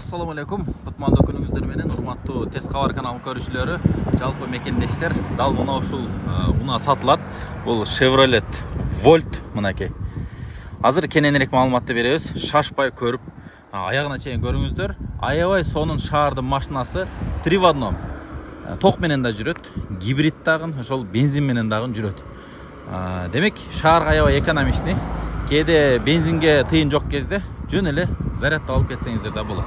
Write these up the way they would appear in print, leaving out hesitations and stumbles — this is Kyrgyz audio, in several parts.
Assalamu alaikum. Kutmandуу күнүңүздөр менен урматтуу Тез кабар каналынын көрүүчүлөрү, жалпы мекендештер. Дал мына ушул унаа сатылат. Бул Chevrolet Volt мынакей. Азыр кененирээк маалыматты беребиз. Шашпай көрүп, аягына чейин көрүңүздөр. Аябай сонун шаардын машинасы 3 в 1. Ток менен да жүрөт, гибрид дагы, ошол бензин менен дагы жүрөт. Демек, шаарга аябай экономичный. Кээде бензинге тыйын жок кезде жөн эле зарядтап алып кетсеңиздер да болот.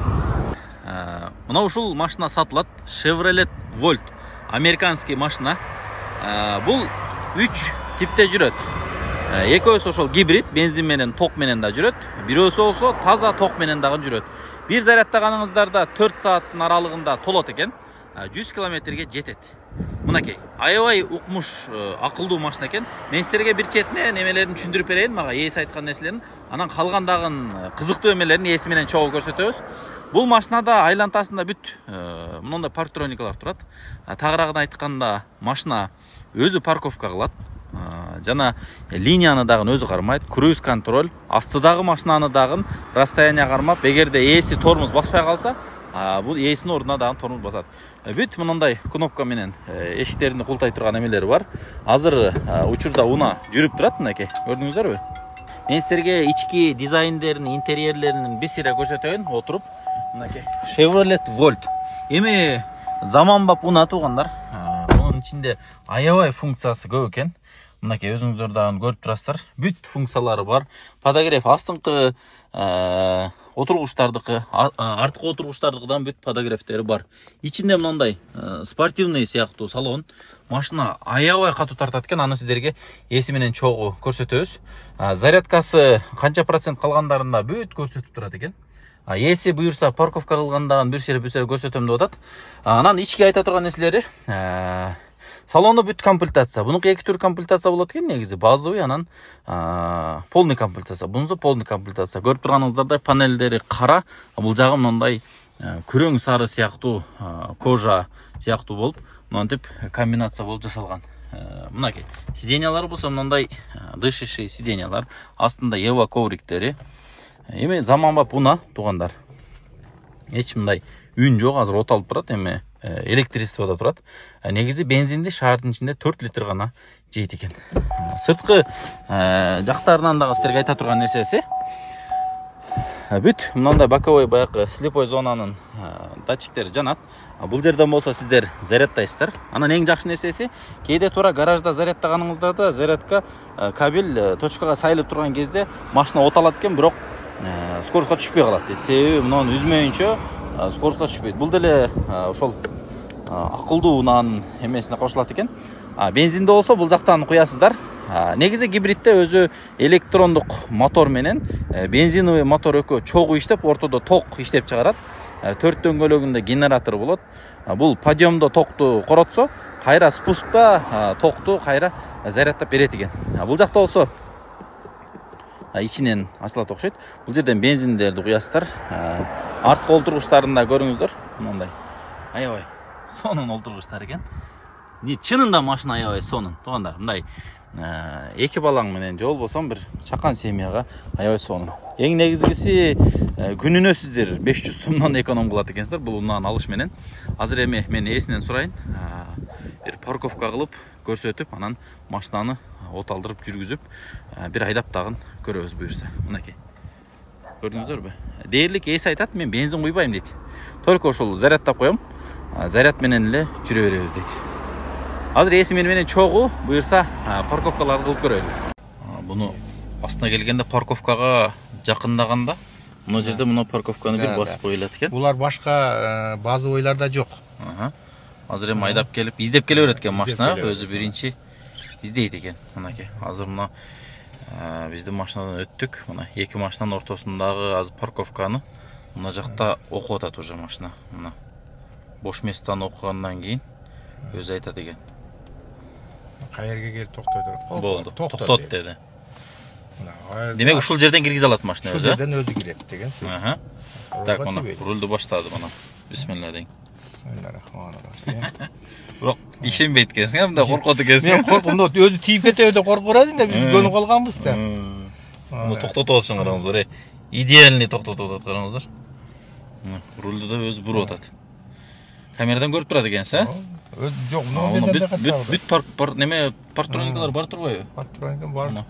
Мына ушул машина сатылат. Chevrolet Volt. Американский машина. Бул 3 типте жүрөт. Экөөсү ошол гибрид, бензин менен, ток менен да жүрөт. Бирөөсү болсо таза ток менен дагы жүрөт. Бир зарядтаганыңыздарда 4 сааттын аралыгында толот экен. 100 километрге жетет. Мынакей, аябай укмуш, акылдуу машина экен. Мен силерге бир четине немелерин түшүндүрүп берейин, мага ээси айткан нерселерин, анан калгандагын кызыктуу эмелерин ээси менен чогуу көрсөтөбүз. Бул машинада айлантасында бүт мындай парктроникалар турат. Тагыраагын айтканда, машина өзү парковка кылат. Жана линияны дагы өзү кармайт, круиз контроль, астыдагы машинаны дагы расстояние кармап, эгерде ээси тормоз баспай калса, бул ээсинин ордуна дагы тормоз басат. Бүт мындай кнопка менен эшиктеринди култай турган эмелери бар. Азыр учурда унаа жүрүп турат, мынакей. Көрдүңүздөрбү? Мен силерге ички дизайндерин, интерьерлерин бир сыйра көрсөтөйүн отуруп. Мынакей. Chevrolet Volt. Эми заманбап унаа туугандар. Мунун ичинде аябай функциясы көп экен. Мынакей өзүңүздөр дагы көрүп турасыздар. Бүт функциялары бар. Подогрев астыңкы отургучтардыкы, арткы отургучтардыкыдан бүт подогревтери бар. Ичинде мындай спортивный сыяктуу салон. Машина аябай катуу тартат экен, аны сиздерге ээси менен чогуу көрсөтөбүз. Зарядкасы канча процент калгандарында бүт көрсөтүп турат экен. Ээси буюрса парковка кылгандагы бир сыйра көрсөтөм деп атат. Анан ички айта турган нерселери, салону бүт комплектация. Бунуку эки түр комплектация болот экен негизи. Базовый, анан полный комплектация. Бунусу полный комплектация. Көрүп турганыңыздардай панелдери кара, бул жагы мындай күрөң сары сыяктуу кожа сыяктуу болуп, мынтип комбинация болуп жасалган. Мынакей. Сиденьялар болсо мындай дышащий сиденьялар, астында Ева ковриктери. Эми заманбап унаа туугандар. Эч мындай үн жок, азыр от алып турат, эми электричествода турат. Негизи бензинди шаардын ичинде 4 литр гана жейт экен. Сырткы жактарынан дагы силерге айта турган нерсеси, бүт мындай боковой баягы слепой зонанын датчиктери жанат. Бул жерден болсо сиздер зарядтайсыздар. Анан эң жакшы нерсеси, кээде туура гаражда зарядтаганыңыздарда зарядка кабель точкага сайылып турган кезде машина от алат экен, бирок скоростко түшпөй калат. Себеби муну үзмөйүнчө скоростко түшпөйт. Бул деле ошол акылдуу унаанын эмесине кошулат экен. Бензинде болсо бул жактан куясыздар. Негизи гибридде өзү электрондук мотор менен бензиновый мотор экөө чогуу иштеп, ортодо ток иштеп чыгарат. 4 дөңгөлөгүндө генератор болот. Бул подъемдо токту коротсо, кайра спускта токту кайра зарядтап берет экен. Бул жакта болсо ичинен ачылат окшойт. Бул жерден бензиндерди куясыздар. Арткы олтургучтарында көрүңүздөр, мындай аябай сонун олтургучтар экен. Чынында машина аябай сонун. Туугандар, мындай эки балаң менен же болбосо бир чакан семьяга аябай сонун. Эң негизгиси күнүнө сиздер 500 сомдон эконом кылат экенсиздер бул унааны алыш менен. Азыр эми мен ээсинен сурайын, бир парковка кылып көрсөтүп, анан машинаны от алдырып жүргүзүп, бир айдап дагы көрөбүз буюрса. Мынакей. Көрдүңүздөрбү? Дээрлик ээси айтат, мен бензин куйбайм дейт. Только ошол зарядтап коем, заряд менен эле жүрө беребиз дейт. Азыр ээси менен чогуу буюрса парковкаларды кылып көрөлү. Буну астына келгенде парковкага жакындаганда, мына жерде мына парковканы бир басып коюлат экен. Булар башка базовыйларда жок. Азыр эми айдап келип, издеп келе берет экен машина, өзү биринчи издейт экен. Мынакей. Азыр мына биздин машинадан өттүк. Мына эки машинанын ортосундагы азыр парковканы мына жакта окуп атат уже машина. Мына бош местаны окугандан кийин өзү айтат экен. Кайерге келип токтой туруп. Болду. Токтот деди. Демек ушул жерден киргизе алат машина өзү. Ушул жерден өзү кирет деген сөз. Так, мына рулду баштады мына. Бисмилла дейин. Бирок ишенбейт экенсиң, мындай коркот экенсиң. Мен коркум, өзү тийип кетеби деп коркуп атат да, биз көнүп калганбыз да. Муну токтотуп атышын караңыздар, идеальный токтотуп атат, караңыздар. Рулду да өзү буруп атат. Камерадан көрүп турат экенсиз, а? Жок, мына жерде бүт парк неме парктроникалар бар турбайбы? Парктроника бар.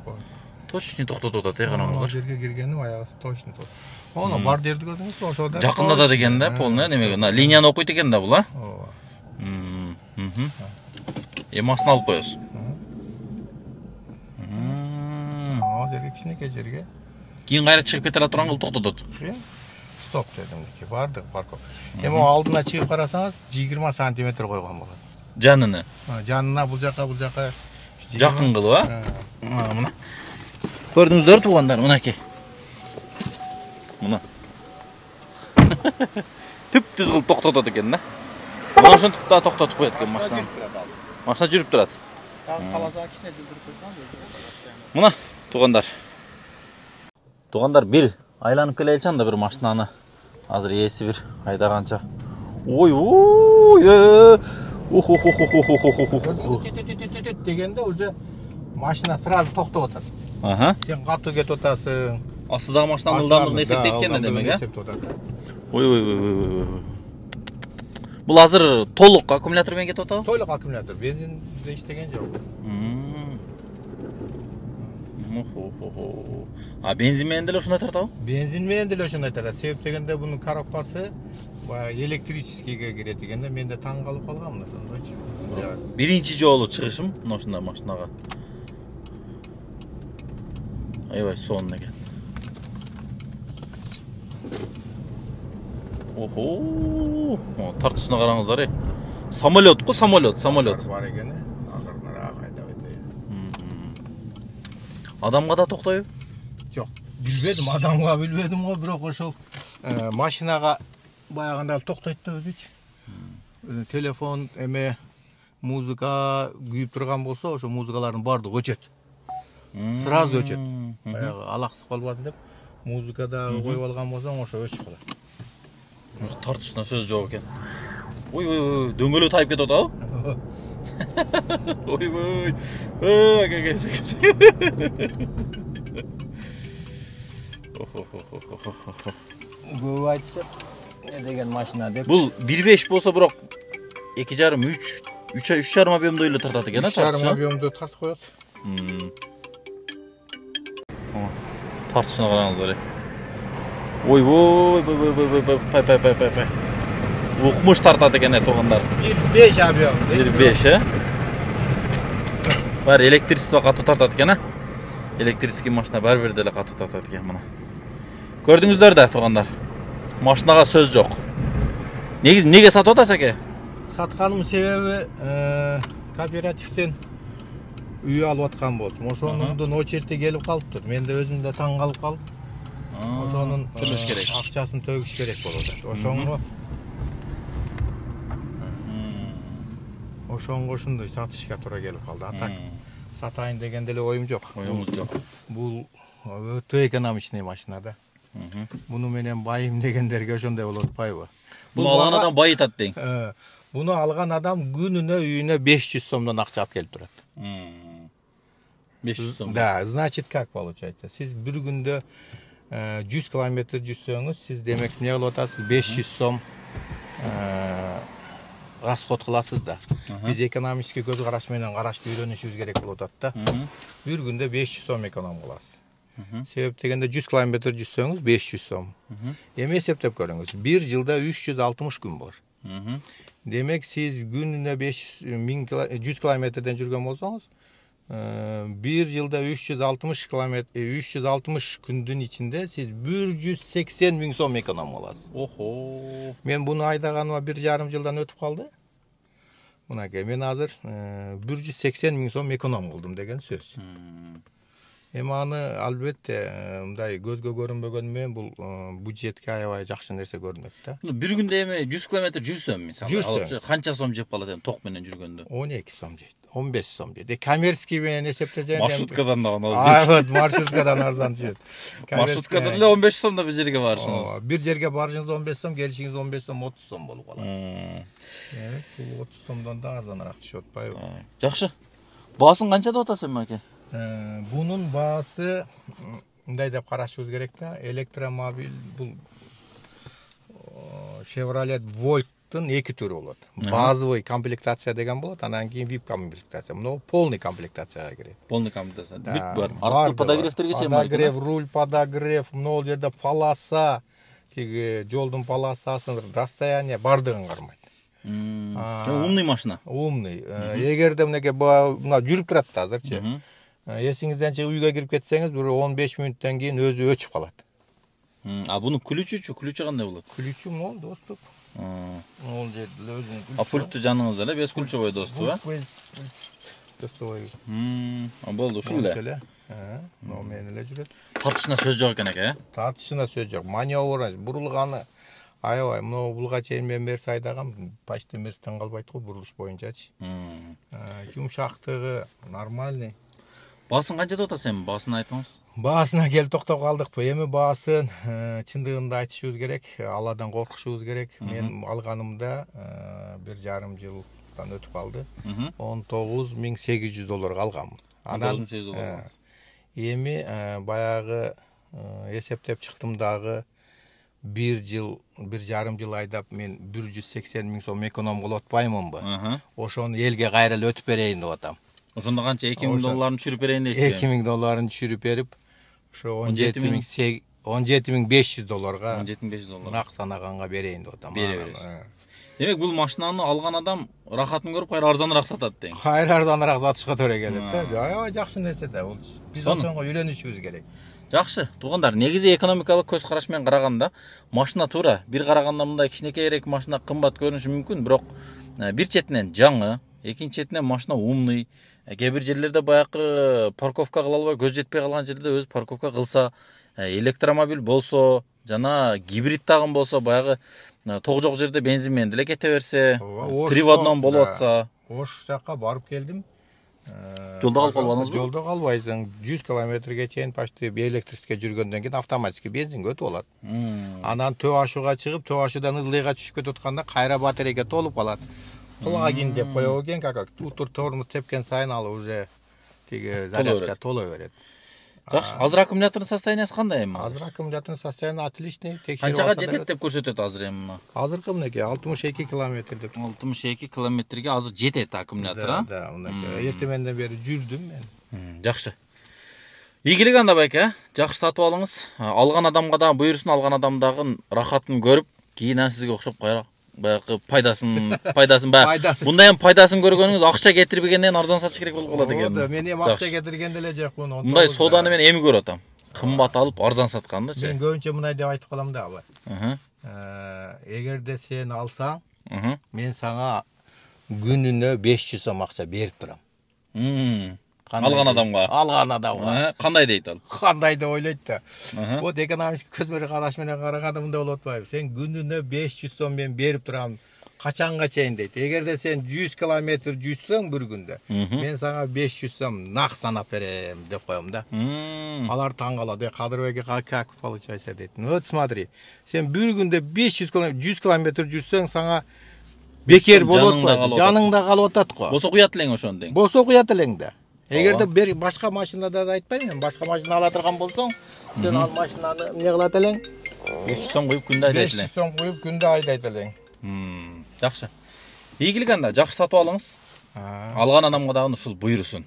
Точно токтотуп атат, караңыздар. Жерге киргени аягы точно токтотот. Оны бар жерди көрдүңүзбү? Ошода. Жакында да деген да, полный немеге. Линияны окуйт экен да бул, а? Ооба. Эми астына алып коебуз. Жерге кичинекей жерге. Кийин кайра чыгып кете турган кылып токтотот. Стоп дедим. Бардык парков. Эми алдына чыгып карасаңыз 20 сантиметр койгон болот. Жаныны. Жанына бул жака жакын кылып, а? Мына. Көрдүңүздөр туугандар, мынакей. Мына. Түп-түз кылып токтотот экен да. Мына ошентип да токтотуп коет экен машинаны. Машина жүрүп турат. Каласа кичине жүрүп койсоң. Мына, туугандар. Туугандар бир айланып келеличи анда бир машинаны. Азыр ээси бир айдаганча. Ой, дегенде уже машина сразу токтоп атат. Сен катуу кетип атасың. Астыдагы машинанын ылдамдыгын эсептейт экен демек, а? Ой. Бул азыр толук аккумулятор менен кетип атабы? Толук аккумулятор, бензинде иштеген жок. А бензин менен деле ошондой тартабы? Бензин менен деле ошондой тартат. Себеп дегенде бунун коробкасы баягы электрическийге кирет экен да, мен да таң калып калганмын ошондойчу. Биринчи жолу чыгышым мына ушундай машинага. Аябай сонун экен. Охо! Тартышына караңыздар, Самолет го, самолет. Бар экен, акырыныраак айдап өтөйүн. Адамга да токтойбу? Жок, билбедим, адамга билбедим го, бирок ошол машинага баягында токтойт да өзүчү. Телефон эме музыка күйүп турган болсо, ошо музыкалардын баардыгы өчөт. Сразу өчөт. Баягы алаксыз калбасын деп, музыка дагы коюп алган болсоң, ошо өчүп калат. Тартышына сөз жок экен. Ой, дөңгөлөө тайып кетип атабы? Ой. Көп айтса, не деген машина деп. Бул 1.5 болсо бирок 2,5, 3,5 объемдой эле тартат экен, а? 3,5 объемдой тартып коет. Тартышына караңыздар. Ой, пай. Укмуш тартат экен, туугандар. 1,5 объем. 1,5, Бар электричество катуу тартат экен, а? Электрический машина бир деле катуу тартат экен мына. Көрдүңүздөр да, туугандар. Машинага сөз жок. Неге сатып атасыз аке? Сатканымдын себеби кооперативден үй алып аткан болчумун. Ошонун очерети келип калыптыр. Мен да өзүм да таң калып калып. Ошонун төлөш керек. Акчасын төгүш керек болуп атат. Ошонго ушундай сатышка туура келип калды. А так сатайын деген деле оюм жок. Бул өтө экономичный машина да. Буну менен байым дегендерге ошондой болуп атпайбы? Буну алган адам байытат дең. Буну алган адам күнүнө үйүнө 500 сомдон акча алып келип турат. 500 сом. Да, значит как получается? Сиз бир күндө 100 километр жүрсөңүз, сиз демек эмне кылып атасыз? 500 сом расход кыласыз да. Биз экономический көз караш менен карашты үйрөнүшүбүз керек болуп атат да. Бир күндө 500 сом эконом кыласыз. Себеп дегенде 100 километр жүрсөңүз 500 сом. Эми эсептеп көрүңүз. Бир жылда 360 күн бар. Демек сиз күнүнө 100 километрден жүргөн болсоңуз, бир жылда 360 күндүн ичинде сиз 180 000 сом эконом кыласыз. Охо. Мен буну айдаганыма 1,5 жылдан өтүп калды. Мынакей, мен азыр 180 000 сом эконом кылдым деген сөз. Эми аны албетте мындай көзгө көрүнбөгөнү менен бул бюджетке аябай жакшы нерсе көрүнөт да. Бир күндө эми 100 километр жүрсөм, мисалы, канча сом жеп калат эми ток менен жүргөндө? 12 сом жейт, 15 сом жейт. Коммерческий менен эсептесең, маршруткадан да арзан. Маршруткадан арзан түшөт. Маршруткада деле 15 сомдо бир жерге барышыңыз. Бир жерге барышыңыз 15 сом, келишиңиз 15 сом, 30 сом болуп калат. Бул 30 сомдон да арзаныраак түшүп атпайбы? Жакшы. Баасын канча деп атасыз эми аке? Бунун баасы мындай деп карашыбыз керек да. Электромобиль бул Chevrolet Volt'тун эки түрү болот. Базовый комплектация деген болот, анан кийин VIP комплектация. Мына полный комплектацияга кирет. Полный комплектация. Бүт бар. Арткы подогревтерге чейин бар. Подогрев, руль, подогрев, мына жерде полоса, тиги жолдун полосасын, расстояние бардыгын кармайт. Умный машина. Умный. Эгерде мынакей мына жүрүп турат да азырчы. Эсиңизден чыгып үйгө кирип кетсеңиз, бир 15 мүнөттөн кийин өзү өчүп калат. А бунун ключучу кандай болот? Ключу мол доступ. Мол жерде өзүнүн. А пультту жаныңызда эле без ключевой доступ, а? Достовой. Болду, ушул эле. Но менен эле жүрөт. Тартышына сөз жок экен эке, Тартышына сөз жок. Маневр, бурулганы аябай, мына булга чейин мен Мерс айдагам, почти Мерстен калбайт го бурулуш боюнчачы. Жумшактыгы нормальный. Баасын канча деп атасыз? Баасын айтыңыз. Баасына келип токтоп калдыкпы. Эми баасын чындыгында айтышыбыз керек, Алладан коркушубуз керек. Мен алганымда 1,5 жылдан өтүп калды. $19,800 алганмын. Анан $19,800. Эми баягы эсептеп чыктым дагы 1,5 жыл айдап мен 180 000 сом эконом кылып атпаймынбы? Ошону элге кайра эле өтүп берейин деп атам. Ошондо канча $2,000 түшүрүп берейин дейсизби? $2,000 түшүрүп берип, ошо $17,500 $17,500 нак санаганга берейин деп атам. Бере бересиз. Демек бул машинаны алган адам рахатын көрүп кайра арзаныраак сатат дейм. Кайра арзаныраак сатышка туура келет да. Аябай жакшы нерсе да бул. Биз ошонго үйрөнүшүбүз керек. Жакшы, туугандар, негизи экономикалык көз караш менен караганда машина туура бир караганда мындай кичинекейирээк машина кымбат көрүнүшү мүмкүн, бирок бир четинен жаңы, экинчи четинен машина умный. Кээ бир жерлерде баягы парковка кыла албай көз жетпей калган жерде өзү парковка кылса, электромобиль болсо, жана гибрид тагын болсо, баягы ток жок жерде бензин менен деле кете берсе, 3 в 1 болуп атса. Ош жакка барып келдим. Жолдо калып калбадыңызбы? Жолдо калбайсың. 100 километрге чейин почти электрический жүргөндөн кийин автоматически бензинге өтүп алат. Анан төө ашууга чыгып, төө ашуудан ылдыйга түшүп кетип атканда кайра батарейка толуп калат. Плагин деп коёбу экен, как утур тормуз тепкен сайын ал уже тиги зарядка толо берет. Жакшы, азыр аккумулятордун состояниясы кандай эми? Азыр аккумулятордун состояние отличный. Канчага жетет деп көрсөтөт азыр эми мына? Азыркы мынакей 62 километр деп. 62 километрге азыр жетет аккумулятор, а? Да, мынакей. Эртеменден бери жүрдүм мен. Жакшы. Ийгилик анда байке, жакшы сатып алыңыз. Алган адамга да буйрусун, алган адамдагы рахатын көрүп, кийин сизге окшоп кайра баягы пайдасын мындай эми пайдасын көргөнүңүз акча кетирбегенден арзан сатыш керек болуп калат экен. Мен эми акча кетирген деле жокмун. Мындай сооданы мен эми көрүп атам. Кымбат алып арзан саткандычы. Мен көбүнчө мындай деп айтып калам да абай. Эгерде сен алсаң, мен сага күнүнө 500 сом акча берип турам. Алган адамга. Кандай дейт ал? Кандай деп ойлойт да. Вот экономический көзмөр караш менен караганда мындай болуп атпайбы? Сен күнүнө 500 сом мен берип турам. Качанга чейин дейт. Эгерде сен 100 километр жүзсөң бир күндө, мен сага 500 сом нак санап берем деп коем да. Алар таң калат. Кадырбек как получается дейт. Вот смотри, сен бир күндө 500 километр, 100 километр жүрсөң сага бекер болот атпайбы? Жаныңда калып атат го. Болсо куят элең ошондо дең. Болсо куят элең да. Эгерде бир башка машинада да айтпайм мен, башка машина ала турган болсоң, сен ал машинаны эмне кылат элең? 500 сом коюп күндө айдайт элең. 500 сом коюп күндө айдайт элең. Жакшы. Ийгилик анда, жакшы сатып алыңыз. Алган адамга дагы ушул буйрусун.